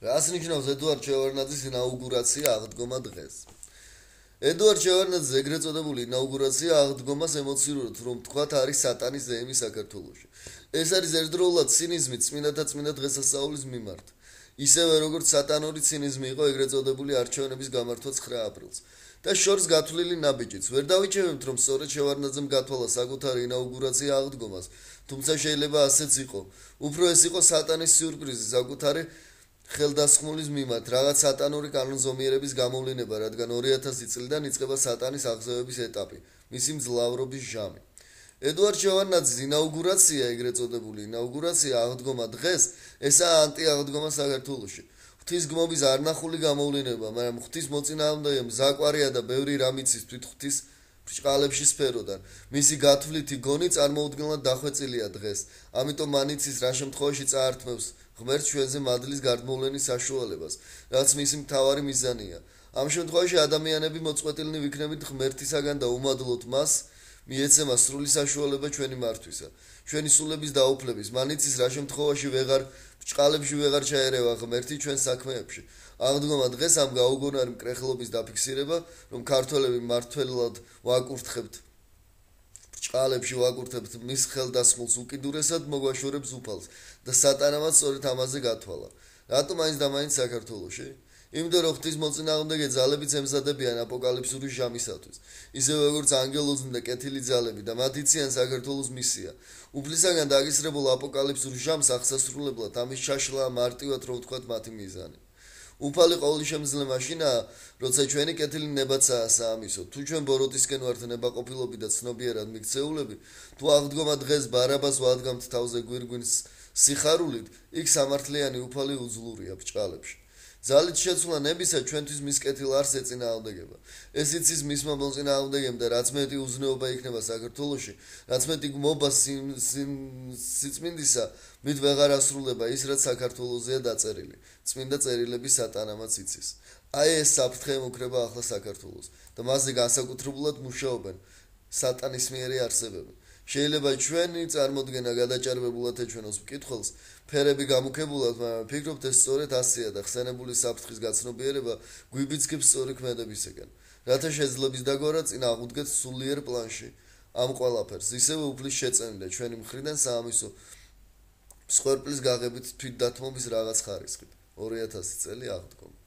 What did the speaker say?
რას ნიშნავს ედუარდ შევარდნაძის ინაუგურაცია აღდგომა დღეს? ედუარდ შევარდნაძის ეგრეთ წოდებული ინაუგურაცია აღდგომას ემოციურად რომ თქვათ არის სატანის ზეიმი საქართველოში. ეს არის ერთდროულად ცინიზმი წმინდათა წმინდა დღესასწაულის მიმართ. ისევე როგორც სატანური ცინიზმი იყო ეგრეთ წოდებული არჩევნების გამართვა 9 აპრილს. და შორს გათვლილი ნაბიჯიც. ვერ დავიჩევებთ რომ სწორედ შევარდნაძემ გათვალა საკუთარი ინაუგურაცია აღდგომას, თუმცა შეიძლება ასეც იყო. უფრო ეს იყო სატანის სიურპრიზი საკუთარი ხელდასხმულის მიმართ, რაღაც სატანური კანონზომიერების გამოვლინება, რადგან 2000 წლიდან იწყება სატანის აღზევების ეტაპი, მისი მძლავრობის ჟამი. ედუარდ შევარდნაძის ინაუგურაცია, ეგრეთ წოდებული ინაუგურაცია აღდგომა დღეს, ესაა ანტიაღდგომა საქართველოში. ღვთისგმობის არნახული გამოვლინება, მაგრამ ღვთის მოწინააღმდეგე მზაკვარია და ბევრი რამ იცის თვით ღვთის ბრჭყალებში სფეროდან. მისი გათვლითი გონი წარმოუდგენლად დახვეწილია დღეს. ამიტომ მან იცის რა შემთხვევაში წაართმევს ღმერთს ჩვენზე მადლის გარდმოვლენის საშუალებას, რაც მისი მთავარი მიზანია. ამ შემთხვევაში ადამიანები მოწყვეტილნი ვიქნებით ღმერთისაგან და უმადლოდ მას მიეცემა სრული საშუალება ჩვენი მართვისა, ჩვენი სულების დაუფლების. მან იცის რა შემთხვევაში ბრჭყალებში ვეღარ ჩაერევა ღმერთი ჩვენ საქმეებში. აღდგომა დღეს ამ გაუგონარი მკრეხლობის დაფიქსირება, რომ ქართველები მართლად ვაკურთხებთ ბრჭყალებში ვაკურთხებთ მის ხელდასხმულს უკიდურესად მოგვაშორებს უფალს და სატანამაც სწორედ ამაზე გათვალა. რატომ მაინც და მაინც საქართველოში? იმიტომ რომ ღვთის მოწინააღმდეგე ძალებიც ემზადებიან აპოკალიფსური ჟამისათვის, ისევე როგორც ანგელოზი და კეთილი ძალები და მათ იციან საქართველოს მისია. უფლისაგან დაგისრებულ აპოკალიფსურ ჟამს აღსასრულებლად ამის ჩაშლა მარტივად რომ ვთქვათ მათი მიზანი. უფალი ყოვლისშემძლე მაშინაა, როცა ჩვენი კეთილი ნებაცაა საამისო. თუ ჩვენ ბოროტისკენ ვართ ნებაყოფილობი და ცნობიერად მიქცეულები, თუ აღდგომა დღეს ბარაბას ვადგამთ თავზე გვირგვინს სიხარულით, იქ სამართლიანი უფალი უძლურია ბრჭყალებში. ძალით შეცვლა ნებისა ჩვენთვის მის კეთილ არს ეწინააღმდეგება. ეს იცის მისმა მოწინააღმდეგემ და რაც მეტი უზნეობა იქნება საქართველოში, რაც მეტი გმობა სიწმინდისა, მით ვეღარ ასრულება ის, რაც საქართველოსზეა დაწერილი. წმინდა წერილები სატანამაც იცის. აი ეს საფრთხე ემუქრება ახლა საქართველოს და მასზე განსაკუთრებულად მუშაობენ სატანისმიერი არსებები. შეიძლება ჩვენი წარმოდგენა გადაჭარბებულად ეჩვენოს მკითხველს, ფერები გამუქებულად, მაგრამ ფიქრობთ ეს სწორედ ასეა და ხსენებული საფრთხის გაცნობიერება გვიბიძგებს სწორი ქმედებისაკენ, რათა შეძლების დაგვარა წინ აღუდგეთ სულიერ პლანში ამ ყველაფერს, ისევე უფლის შეწევით ჩვენი მხრიდან საამისო მსხვერპლის გაღებით თვითდათმობის რაღაც ხარისხით. 2000 წელი აღდგომა.